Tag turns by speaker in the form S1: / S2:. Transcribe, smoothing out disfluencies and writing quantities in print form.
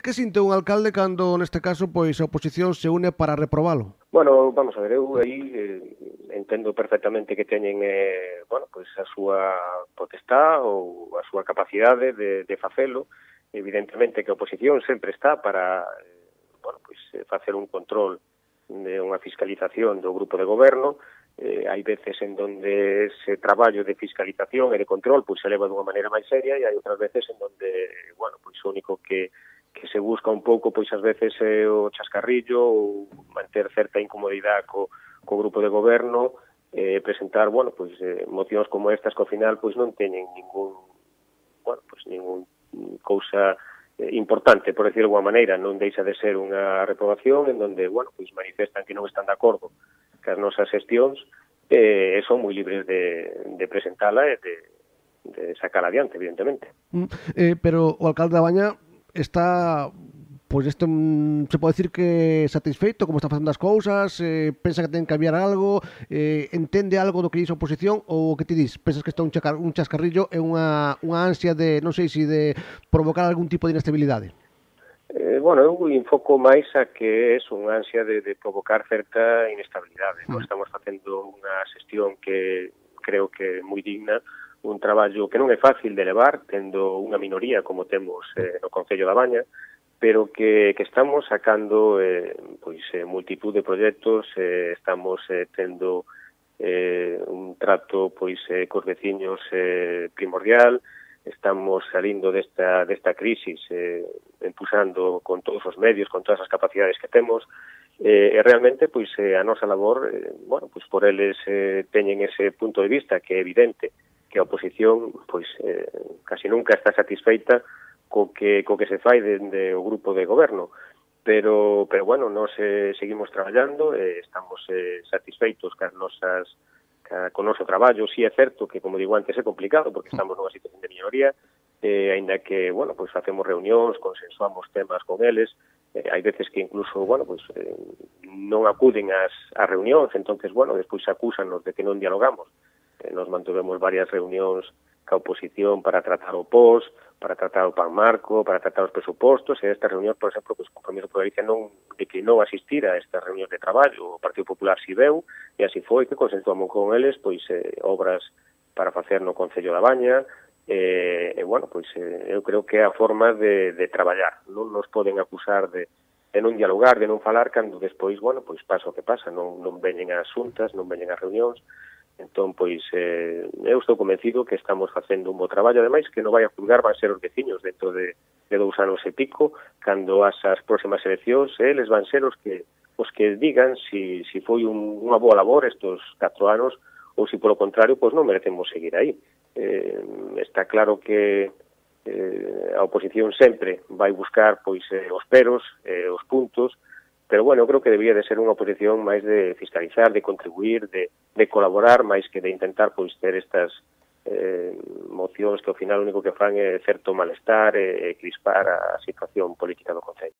S1: Que sinte un alcalde cando, neste caso, pois a oposición se une para reprobalo?
S2: Bueno, vamos a ver, eu aí entendo perfectamente que teñen pois a súa potestad ou a súa capacidade de facelo. Evidentemente que a oposición sempre está para facer un control de unha fiscalización do grupo de goberno. Hai veces en donde ese traballo de fiscalización e de control pois se leva dunha maneira máis seria e hai outras veces en donde, pois o único que se busca un pouco, pois ás veces o chascarrillo ou manter certa incomodidade co grupo de goberno, presentar, mocións como estas que ao final pois non teñen ningún cousa importante, por decirlo de alguma maneira. Non deixa de ser unha reprobación en donde, pois manifestan que non están de acordo cas nosas xestións e son moi libres de presentala e de sacala adiante, evidentemente.
S1: Pero o alcalde da Baña está, pois isto se pode decir que satisfeito como está facendo as cousas, pensa que ten que cambiar algo, entende algo do que dice a oposición ou o que ti dis? Pensas que está un chascarrillo e unha ansia de, non sei se de provocar algún tipo de inestabilidade?
S2: Eu enfoco máis a que é unha ansia de provocar certa inestabilidade. Nós estamos facendo unha xestión que creo que é moi digna, un traballo que non é fácil de levar, tendo unha minoría como temos no Concello da Baña, pero que estamos sacando multitud de proxectos, estamos tendo un trato cos veciños primordial, estamos salindo desta crisis empujando con todos os medios, con todas as capacidades que temos, e realmente a nosa labor, por eles teñen ese punto de vista que é evidente que a oposición casi nunca está satisfeita co que se fai dende o grupo de goberno, pero nós seguimos traballando, estamos satisfeitos con o noso traballo. Si é certo que, como digo antes, é complicado porque estamos nunha situación de minoría, aínda que, facemos reunións, consensuamos temas con eles, hai veces que incluso, non acuden ás reunións, entonces, despois acúsanos de que non dialogamos. Nos mantuvemos varias reunións ca oposición para tratar o POS, para tratar o PAN Marco, para tratar os presupostos, e estas reunións, por exemplo, o Compromiso por Galicia non declinou asistir a estas reunións de traballo, o Partido Popular si veu, e así foi que consensuamos con eles obras para facer no Concello da Baña, eu creo que é a forma de traballar. Non nos poden acusar de non dialogar, de non falar, cando despois, pasa o que pasa, non veñen as xuntas, non veñen as reunións. Entón, eu estou convencido que estamos facendo un bo traballo, ademais que non vai a juzgar van ser os veciños dentro de 2 anos e pico, cando as próximas eleccións, eles van ser os que digan si foi unha boa labor estos 4 anos ou se polo contrario, non merecemos seguir aí. Está claro que a oposición sempre vai buscar os peros, os puntos, pero, eu creo que debía de ser unha oposición máis de fiscalizar, de contribuir, de colaborar, máis que de intentar ter estas mocións que ao final o único que fan é certo malestar e crispar a situación política do Concello.